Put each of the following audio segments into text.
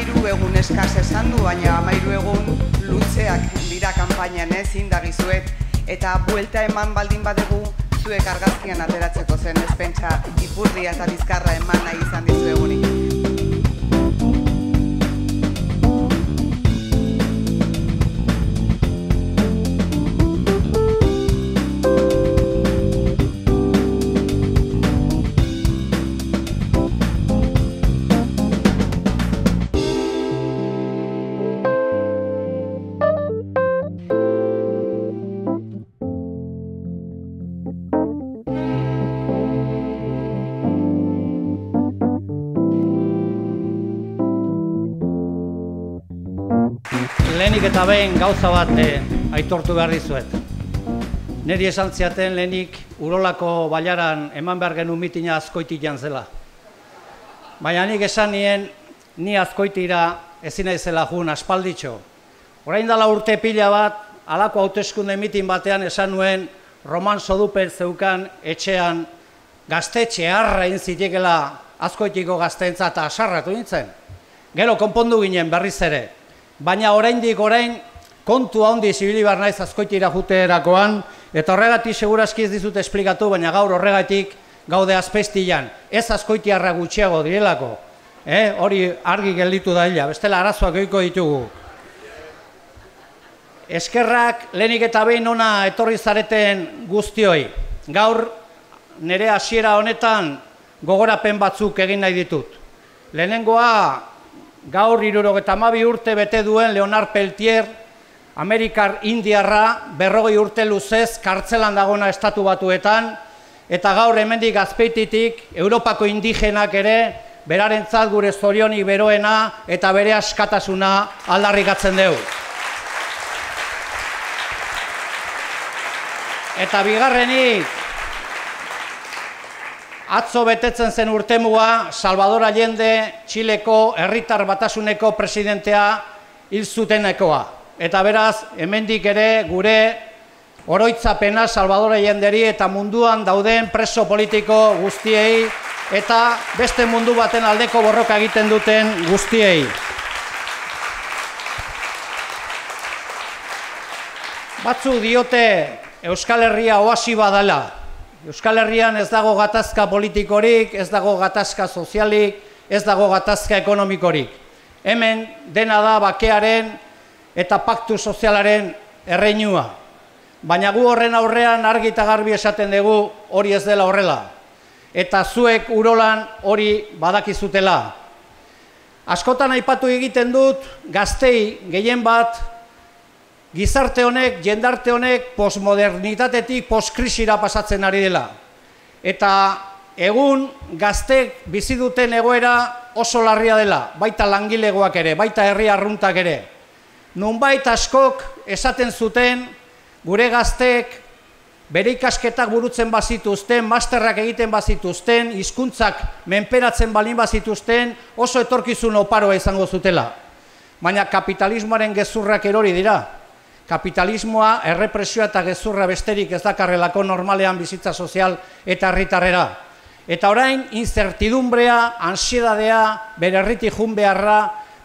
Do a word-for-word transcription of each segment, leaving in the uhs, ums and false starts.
amairu egun eskas esan du, baina amairu egun luzeak dira kanpainan ez indagizuet, eta buelta eman baldin badegu zuek argazkian ateratzeko zen ez pentsa ipurdia eta bizkarra eman nahi izan dizu egunik. Lehenik eta behin gauza bat aitortu behar dizuet. Neri esan ziaten lehenik Urolako bailaran eman behar genuen mitina Azkoitian zela. Baina nik esan nien, ni Azkoitira ezin naizela jun aspalditxo. Orain dela urte pila bat, halako hauteskunde mitin batean esan nuen Roman Soduper zeukan etxean gaztetxe harra egin zitekela Azkoitiko gazteentzat eta asarratu nintzen. Gero konpondu ginen berriz ere. Baina oraindik orain kontu handi zibili behar naiz Azkoitira juterakoan, eta horregatik segurazki ez dizut esplikatu, baina gaur horregatik gaude Azpeistian. Ez azkoitiarra gutxiago direlako. Hori argi gelditu da hila, bestela arazoak goiko ditugu. Eskerrak lehenik eta behin ona etorri zareten guztioi. Gaur nire hasiera honetan gogorapen batzuk egin nahi ditut. Lehenengoa, gaur hirurogeita hamabi urte bete duen Leonard Peltier, Amerikar Indiarra, berrogei urte luzez kartzelan dagona estatu batuetan, eta gaur hemendik Azpeititik Europako indigenak ere berarentzat gure zorionik beroena eta bere askatasuna aldarrikatzen dugu. Eta bigarrenik, atzo betetzen zen urtemua Salvador Allende, Txileko herritar batasuneko presidentea hil zutenekoa. Eta beraz, hemendik ere gure oroitzapena Salvador Allenderi eta munduan dauden preso politiko guztiei eta beste mundu baten aldeko borroka egiten duten guztiei. Batzu diote Euskal Herria oasi badala. Euskal Herrian ez dago gatazka politikorik, ez dago gatazka sozialik, ez dago gatazka ekonomikorik. Hemen dena da bakearen eta paktu sozialaren erreinua. Baina gu horren aurrean argi eta garbi esaten dugu hori ez dela horrela. Eta zuek Urolan hori badakizutela. Askotan aipatu egiten dut gaztei gehien bat gizarte honek, jendarte honek postmodernitatetik postkrisira pasatzen ari dela. Eta egun gaztek bizi duten egoera oso larria dela, baita langilegoak ere, baita herri arruntak ere. Nunbait askok esaten zuten gure gaztek bere ikasketak burutzen bazituzten, masterrak egiten bazituzten, hizkuntzak menperatzen balin bazituzten, oso etorkizun oparoa izango zutela. Baina kapitalismoaren gezurrak erori dira. Kapitalismoa, errepresioa eta gezurra besterik ez dakarrelako normalean bizitza sozial eta herritarrera. Eta orain, incertidumbrea, ansiedadea, bere herritik jun beharra,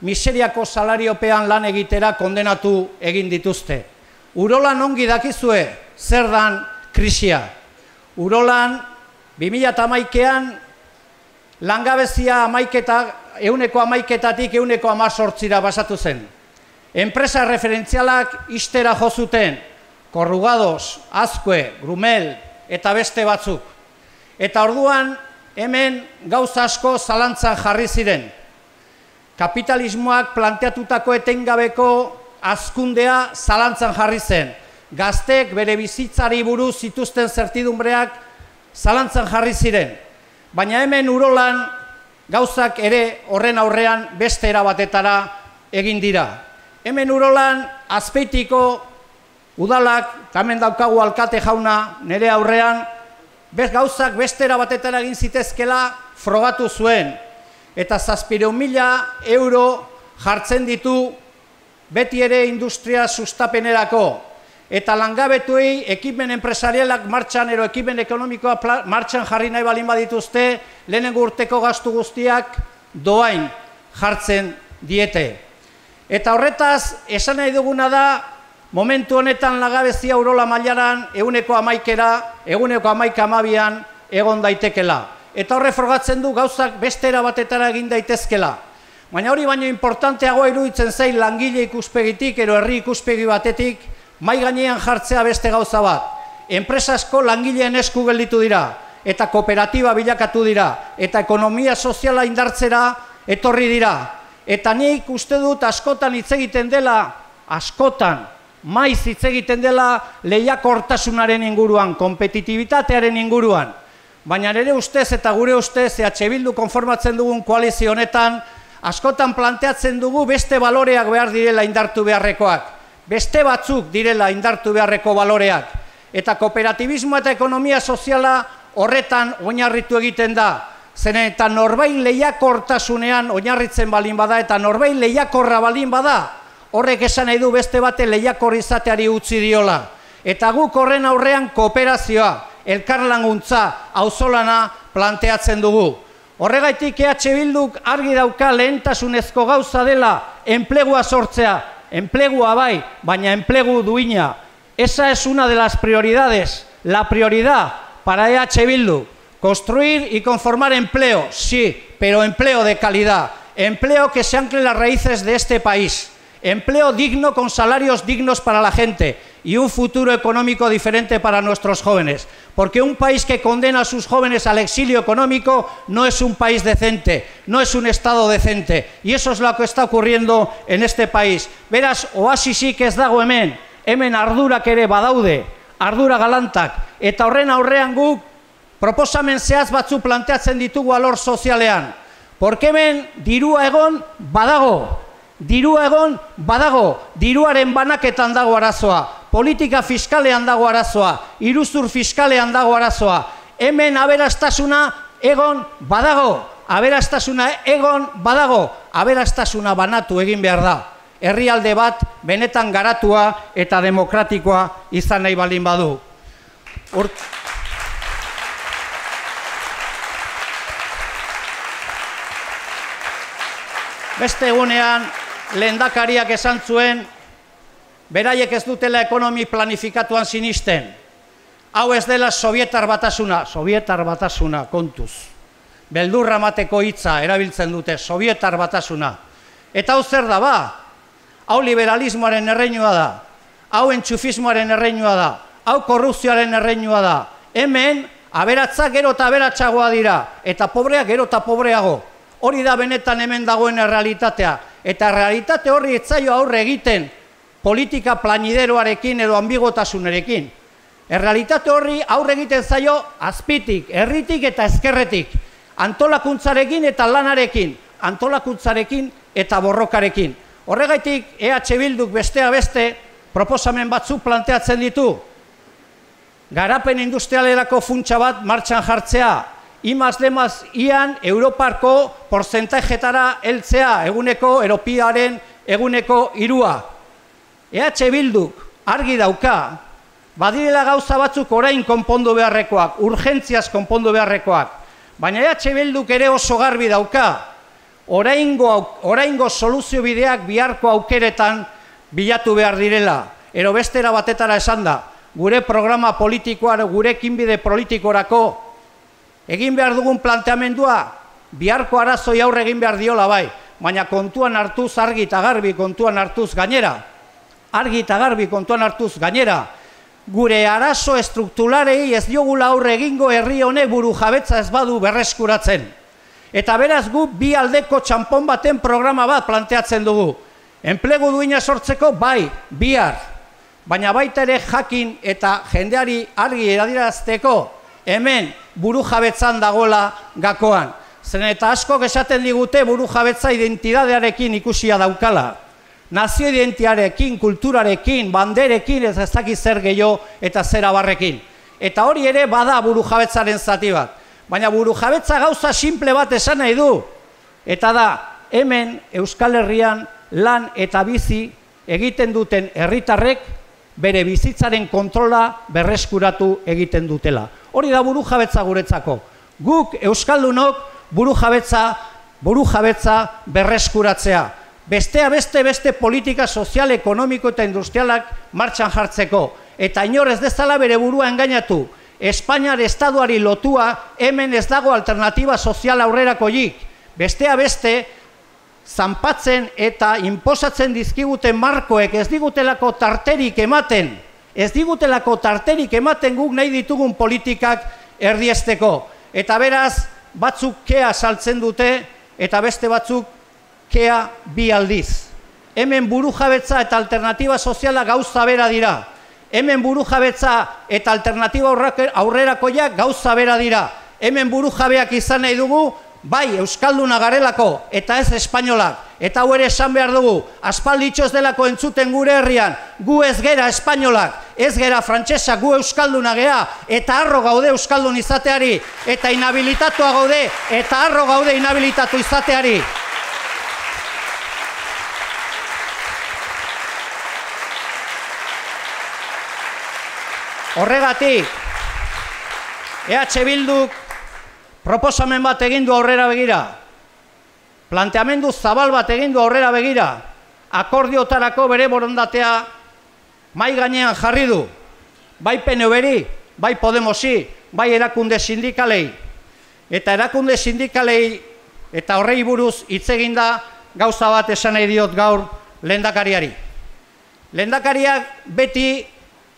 miseriako salariopean lan egitera kondenatu egin dituzte. Urolan ongi dakizue, zer dan krisia. Urolan, bi mila hamaikaan langabezia amaiketa, ehuneko amaiketatik ehuneko hamazortzira basatu zen. Enpresa referentzialak ixtera jo zuten, Korrugados, Azkue, Grumel eta beste batzuk. Eta orduan hemen gauza asko zalantzan jarri ziren. Kapitalismoak planteatutako etengabeko hazkundea zalantzan jarri zen. Gaztek bere bizitzari buruz zituzten zertidumbreak zalantzan jarri ziren. Baina hemen Urolan gauzak ere horren aurrean beste erabatetara egin dira. Hemen Urolan Azpeitiko udalak, hemen daukagu alkate jauna nire aurrean, bez gauzak bestera batetara egin zitezkela frogatu zuen. Eta zazpireun mila euro jartzen ditu beti ere industria sustapenerako. Eta langabetuei ekimen enpresarialak martxan, ero ekimen ekonomikoa martxan jarri nahi balin badituzte, lehenengo urteko gastu guztiak doain jartzen diete. Eta horretaz, esan nahi duguna da, momentu honetan langabezia urola mailaran ehuneko hamaikera, ehuneko hamaika hamabian egon daitekela. Eta horre frogatzen du gauzak bestera batetara egin daitezkela. Baina hori baino importanteagoa iruditzen zain langile ikuspegitik, ero herri ikuspegi batetik, mai gainean jartzea beste gauza bat. Enpresa asko langileen esku gelditu dira, eta kooperatiba bilakatu dira, eta ekonomia soziala indartzera etorri dira. Eta nik uste dut askotan hitz egiten dela, askotan, maiz hitz egiten dela lehiakortasunaren inguruan, kompetitibitatearen inguruan. Baina nire ustez eta gure ustez, E H Bildu konformatzen dugun koalizio honetan, askotan planteatzen dugu beste baloreak behar direla indartu beharrekoak. Beste batzuk direla indartu beharreko baloreak. Eta kooperatibismo eta ekonomia soziala horretan oinarritu egiten da. Zeren eta norbait lehiakortasunean oinarritzen balin bada eta norbait lehiakorra balin bada, horrek esan nahi du beste bate lehiakor izateari utzi diola. Eta guk horren aurrean kooperazioa, elkarlaguntza, auzolana planteatzen dugu. Horregaitik E H Bilduk argi dauka lehentasunezko gauza dela enplegua sortzea, enplegua bai, baina enplegu duina. Esa es una de las prioridades, la prioridad para E H Bildu, construir y conformar empleo, sí, pero empleo de calidad, empleo que se ancle en las raíces de este país, empleo digno con salarios dignos para la gente y un futuro económico diferente para nuestros jóvenes. Porque un país que condena a sus jóvenes al exilio económico no es un país decente, no es un Estado decente. Y eso es lo que está ocurriendo en este país. Beraz, oasisik ez dago hemen, hemen ardurak ere badaude, ardura galantak. Eta horren aurrean guk proposamen zehaz batzu planteatzen ditugu alor sozialean. Porque hemen dirua egon badago, dirua egon badago, diruaren banaketan dago arazoa. Politika fiskalean dago arazoa, iruzur fiskalean dago arazoa. Hemen aberastasuna egon badago, aberastasuna egon badago, aberastasuna banatu egin behar da. Herrialde bat benetan garatua eta demokratikoa izan nahi baldin badu. Ur... Beste egunean, lehendakariak esan zuen, beraiek ez dutela ekonomi planifikatuan sinisten. Hau ez dela Sovietar batasuna, Sovietar batasuna, kontuz. Beldurra mateko hitza erabiltzen dute, Sovietar batasuna. Eta hau zer da ba? Hau liberalismoaren erreinua da, hau entxufismoaren erreinua da, hau korrupzioaren erreinua da. Hemen, aberatzak gero eta aberatsagoa dira, eta pobreak gero eta pobreago. Hori da benetan hemen dagoen errealitatea. Eta realitate horri etzaio aurre egiten, politika planideroarekin edo ambigotasunerekin. Errealitate horri aurre egiten zaio azpitik, herritik eta ezkerretik, antolakuntzarekin eta lanarekin, antolakuntzarekin eta borrokarekin. Horregaitik E H Bilduk bestea beste proposamen batzuk planteatzen ditu. Garapen industrialerako funtsa bat martxan jartzea, imaz demaz ian Europarko porcentajetara heltzea, eguneko Europiaren eguneko irua. E H Bilduk argi dauka, badirela gauza batzuk orain konpondu beharrekoak, urgentziaz konpondu beharrekoak, baina E H Bilduk ere oso garbi dauka, oraingo, oraingo soluzio bideak biharko aukeretan bilatu behar direla. Ero bestera batetara esan da, gure programa politikoa, gure ekinbide politikorako, egin behar dugun planteamendua, biharko arazoi aurre egin behar diola bai, baina kontuan hartuz argi eta garbi kontuan hartuz gainera, argi eta garbi kontuan hartuz gainera, gure arazo estrukturalei ez diogula aurre egingo herri honek buru jabetza ez badu berreskuratzen. Eta beraz gu bi aldeko txanpon baten programa bat planteatzen dugu. Enplegu duina sortzeko bai, bihar, baina baita ere jakin eta jendeari argi eradirazteko hemen buru jabetzan dagoela gakoan. Zeren eta askok esaten digute buru jabetza identidadearekin ikusia daukala. Nazio identiarekin, kulturarekin, banderekin, ez ez dakiz zer gehiago eta zer abarrekin. Eta hori ere bada buru jabetzaren zati bat. Baina buru jabetza gauza simple bat esan nahi du. Eta da, hemen Euskal Herrian lan eta bizi egiten duten herritarrek bere bizitzaren kontrola berreskuratu egiten dutela. Hori da buru jabetza guretzako. Guk Euskaldunok buru jabetza, buru jabetza berreskuratzea. bestea beste beste politika sozial, ekonomiko eta industrialak martxan jartzeko. Eta inor ez dezala bere burua engainatu. Espainiar estaduari lotua hemen ez dago alternatiba sozial aurrerakoik. Bestea beste, zanpatzen eta inposatzen dizkiguten markoek ez digutelako tarterik ematen, ez digutelako tarterik ematen guk nahi ditugun politikak erdiesteko. Eta beraz, batzuk kea saltzen dute eta beste batzuk kea bi aldiz. Hemen burujabetza eta alternatiba soziala gauza bera dira. Hemen burujabetza eta alternatiba aurrerakoiak gauza bera dira. Hemen burujabeak izan nahi dugu, bai, euskalduna garelako, eta ez espainolak. Eta hau ere esan behar dugu, aspalditxo ez delako entzuten gure herrian, gu ez gera espainolak, ez gera frantsesak, gu euskalduna gea, eta harro gaude euskaldun izateari, eta inhabilitatua gaude, eta harro gaude inhabilitatu izateari. Horregatik, E H Bilduk proposamen bat egin du aurrera begira, planteamendu zabal bat egin du aurrera begira, akordiotarako bere borondatea mai gainean jarri du, bai P N V-ri, bai Podemosi, bai erakunde sindikalei. Eta erakunde sindikalei eta horrei buruz hitz egin da gauza bat esan nahi diot gaur lehendakariari. Lehendakariak beti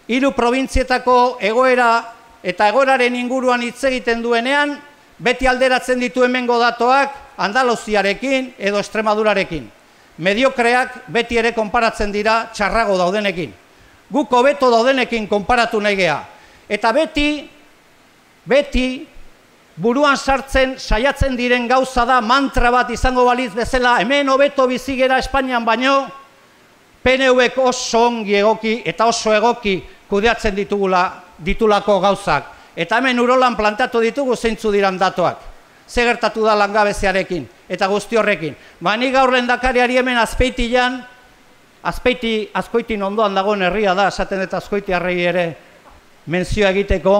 hiru probintzietako egoera eta egoeraren inguruan hitz egiten duenean, beti alderatzen ditu hemengo datoak Andaluziarekin edo Extremadurarekin. Mediokreak beti ere konparatzen dira txarrago daudenekin. Guk hobeto daudenekin konparatu nahi gea. Eta beti, beti, buruan sartzen saiatzen diren gauza da mantra bat izango baliz bezala, hemen hobeto bizigera Espainian baino, P N V-ek oso ongi egoki eta oso egoki kudeatzen ditugula ditulako gauzak. Eta hemen urolan plantatu ditugu zeintzu diran datoak. Ze gertatu da langabeziarekin eta guzti horrekin. Ba, ni gaur lehendakariari hemen Azpeitian, Azpeiti, Azkoitin ondoan dagoen herria da, esaten eta Azkoitiarrei ere menzioa egiteko.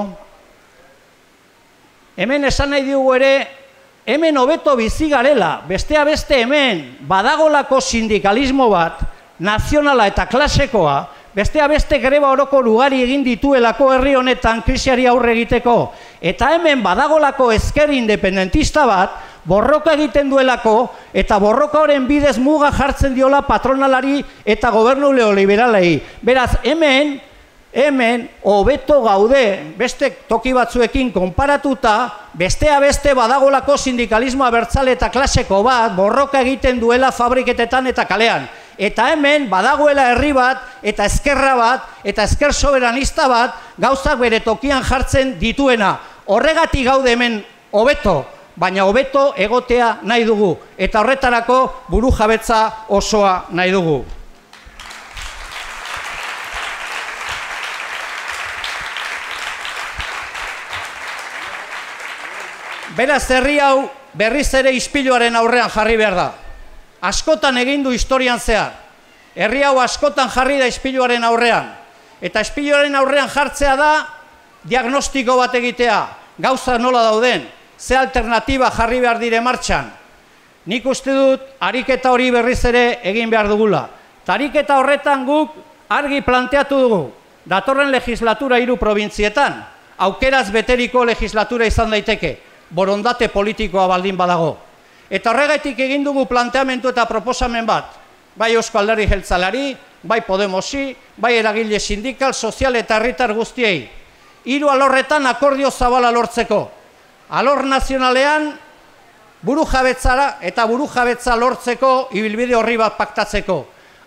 Hemen esan nahi dugu ere, hemen hobeto bizi garela, bestea beste hemen badagolako sindikalismo bat, nazionala eta klasekoa, bestea beste greba oroko ugari egin dituelako herri honetan krisiari aurre egiteko. Eta hemen badagolako ezker independentista bat, borroka egiten duelako, eta borroka horren bidez muga jartzen diola patronalari eta gobernu neoliberalei. Beraz, hemen, hemen, hobeto gaude, beste toki batzuekin konparatuta, bestea beste badagolako sindikalismo abertzale eta klaseko bat, borroka egiten duela fabriketetan eta kalean. Eta hemen badagoela herri bat, eta ezkerra bat, eta ezker soberanista bat, gauzak bere tokian jartzen dituena. Horregatik gaude hemen hobeto, baina hobeto egotea nahi dugu, eta horretarako burujabetza osoa nahi dugu. Beraz, herri hau berriz ere ispiluaren aurrean jarri behar da. Askotan egin du historian zehar. Herri hau askotan jarri da ispiluaren aurrean. Eta ispiluaren aurrean jartzea da diagnostiko bat egitea. Gauza nola dauden, ze alternatiba jarri behar dire martxan. Nik uste dut, ariketa hori berriz ere egin behar dugula. Eta ariketa horretan guk argi planteatu dugu. Datorren legislatura hiru probintzietan, aukeraz beteriko legislatura izan daiteke, borondate politikoa baldin badago. Eta horregatik egin dugu planteamendu eta proposamen bat, bai Eusko Alderdi Jeltzaleari, bai Podemosi, bai eragile sindikal, sozial eta herritar guztiei. Hiru alorretan akordio zabala lortzeko. Alor nazionalean burujabetzara eta burujabetza lortzeko ibilbide horri bat paktatzeko.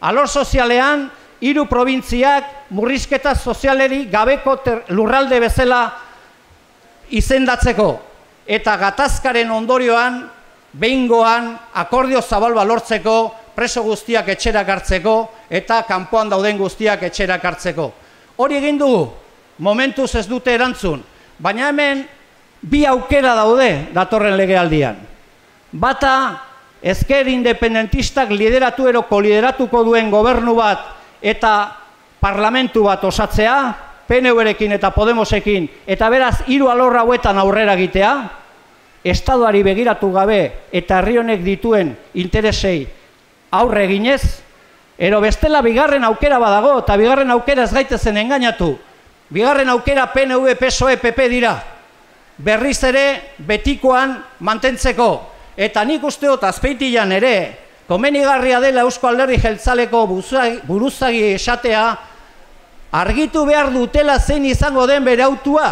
Alor sozialean hiru probintziak murrizketa sozialeri gabeko lurralde bezala izendatzeko. Eta gatazkaren ondorioan, behingoan, akordio zabal lortzeko, preso guztiak etxerak hartzeko, eta kanpoan dauden guztiak etxerak hartzeko. Hori egin dugu, momentuz ez dute erantzun, baina hemen bi aukera daude datorren legealdian. Bata, ezker independentistak lideratu eroko lideratuko duen gobernu bat eta parlamentu bat osatzea, P N V-rekin eta Podemosekin, eta beraz hiru alor hauetan aurrera egitea, Estaduari begiratu gabe eta herri honek dituen interesei aurre eginez, ero bestela bigarren aukera badago, eta bigarren aukera ez gaitezen engainatu. Bigarren aukera P N V, P S O E, P P dira. Berriz ere betikoan mantentzeko. Eta nik uste dut Azpeitian ere, komenigarria dela Eusko Alderdi Jeltzaleko buruzagi esatea, argitu behar dutela zein izango den bere autua,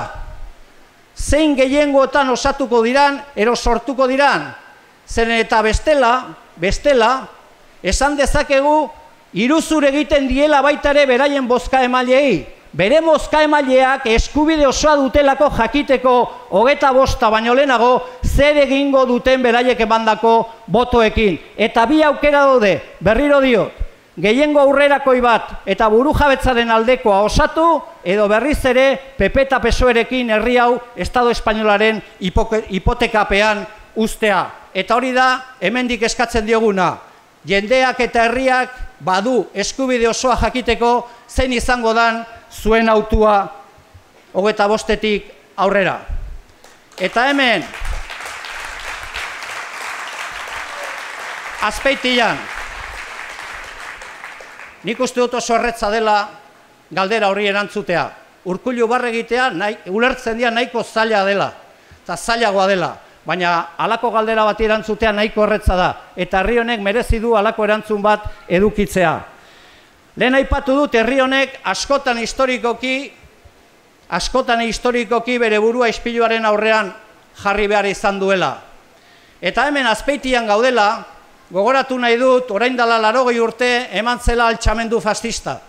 zein gehiengoetan osatuko diran, ero sortuko diran, zen eta bestela, bestela, esan dezakegu, iruzur egiten diela baita ere beraien bozka emailei, bere bozka emaileak eskubide osoa dutelako jakiteko hogeta bosta baino lehenago zer egingo duten beraiek emandako botoekin. Eta bi aukera daude, berriro diot, gehiengo aurrerakoi bat eta burujabetzaren aldekoa osatu, edo berriz ere P P eta P S O E-rekin herri hau Estado Espainolaren hipotekapean ustea. Eta hori da, hemendik eskatzen dioguna, jendeak eta herriak badu eskubide osoa jakiteko zein izango dan zuen autua hogeta bostetik aurrera. Eta hemen, Azpeitian, nik uste dut oso erretza dela galdera horri erantzutea. Urkullu barre egitea, ulertzen dira nahiko zaila dela, eta zailagoa dela, baina halako galdera bat erantzutea nahiko erretza da, eta herri honek merezi du halako erantzun bat edukitzea. Lehen aipatu dut herri honek askotan historikoki, askotan historikoki bere burua ispiluaren aurrean jarri behar izan duela. Eta hemen Azpeitian gaudela, gogoratu nahi dut, orain dela laurogei urte eman zela altxamendu fascista.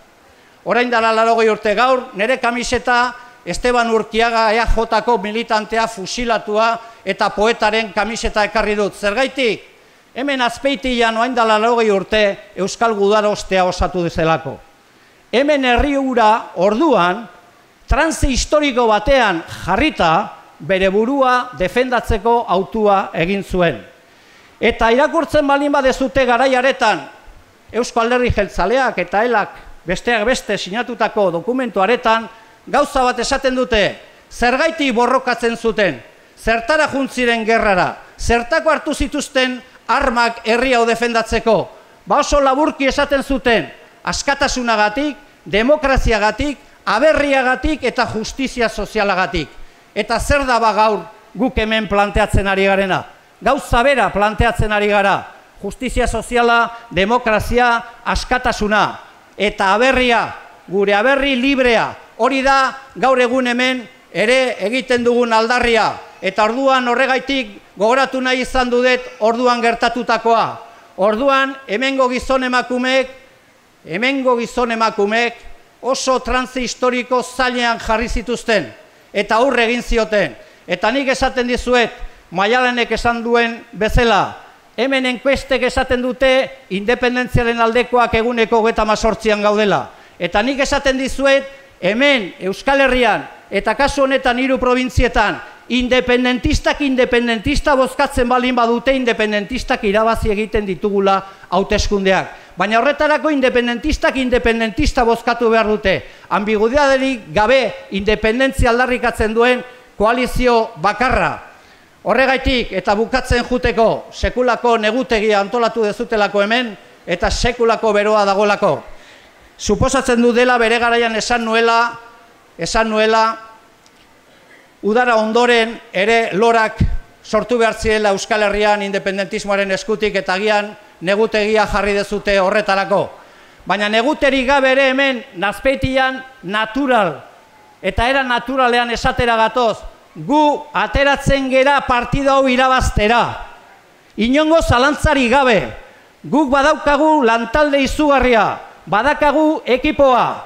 Orain dela laurogei urte gaur, nire kamiseta Esteban Urkiaga E A Jko militantea fusilatua eta poetaren kamiseta ekarri dut. Zergaitik? Hemen Azpeitian orain dela laurogei urte Euskal Gudarostea osatu dezelako. Hemen herri hura orduan, transe historiko batean jarrita, bere burua defendatzeko autua egin zuen. Eta irakurtzen balin badezute garaiaretan, Eusko Alderdi Jeltzaleak eta elak besteak beste sinatutako dokumentuaretan, gauza bat esaten dute, zergaiti borrokatzen zuten, zertara juntziren gerrara, zertako hartu zituzten armak herri hau defendatzeko. Ba oso laburki esaten zuten, askatasunagatik, demokraziagatik, aberriagatik eta justizia sozialagatik. Eta zer da ba gaur guk hemen planteatzen ari garena? Gauza bera planteatzen ari gara, justizia soziala, demokrazia, askatasuna, eta aberria, gure aberri librea, hori da gaur egun hemen ere egiten dugun aldarria, eta orduan horregaitik gogoratu nahi izan dudet orduan gertatutakoa. Orduan hemengo gizon emakumeek, hemengo gizon emakumeek oso transe historiko zailean jarri zituzten, eta aurre egin zioten. Eta nik esaten dizuet, Maialenek esan duen bezala, hemen enkuestek esaten dute independentziaren aldekoak eguneko hogeita hemezortzian gaudela. Eta nik esaten dizuet, hemen Euskal Herrian eta kasu honetan hiru probintzietan independentistak independentista bozkatzen balin badute independentistak irabazi egiten ditugula hauteskundeak. Baina horretarako independentistak independentista bozkatu behar dute. Ambiguidaderik gabe independentzia aldarrikatzen duen koalizio bakarra. Horregaitik eta bukatzen juteko sekulako negutegia antolatu dezutelako hemen eta sekulako beroa dagolako. Suposatzen du dela bere garaian esan nuela, esan nuela, udara ondoren ere lorak sortu behar zirela Euskal Herrian independentismoaren eskutik eta agian negutegia jarri dezute horretarako. Baina neguterik gabe ere hemen Azpeitian natural eta era naturalean esatera gatoz, gu ateratzen gera partida hau irabaztera. Inongo zalantzari gabe, guk badaukagu lantalde izugarria, badakagu ekipoa,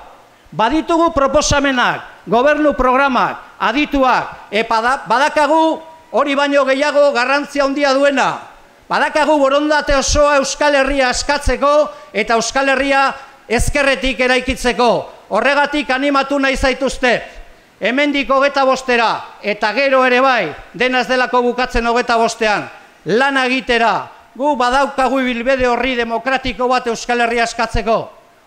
baditugu proposamenak, gobernu programak, adituak, eta badakagu hori baino gehiago garrantzia handia duena. Badakagu borondate osoa Euskal Herria askatzeko eta Euskal Herria ezkerretik eraikitzeko. Horregatik animatu nahi zaituztet. Hemendik hogeta bostera eta gero ere bai, denaz delako bukatzen hogeta bostean, lan egitera, gu badaukagu ibilbide horri demokratiko bat Euskal Herria askatzeko.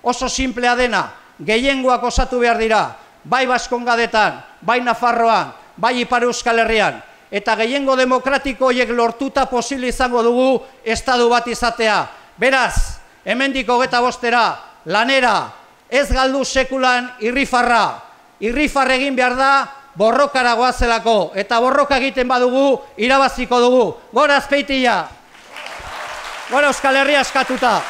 Oso simplea dena, gehiengoak osatu behar dira, bai Baskongadetan, bai Nafarroan, bai Ipar Euskal Herrian, eta gehiengo demokratiko horiek lortuta posible izango dugu estatu bat izatea. Beraz, hemendik hogeita bostera, lanera, ez galdu sekulan irrifarra. Irrifar egin behar da, borrokara goazelako, eta borroka egiten badugu, irabaziko dugu. Gora Azpeitia! Gora Euskal Herria askatuta!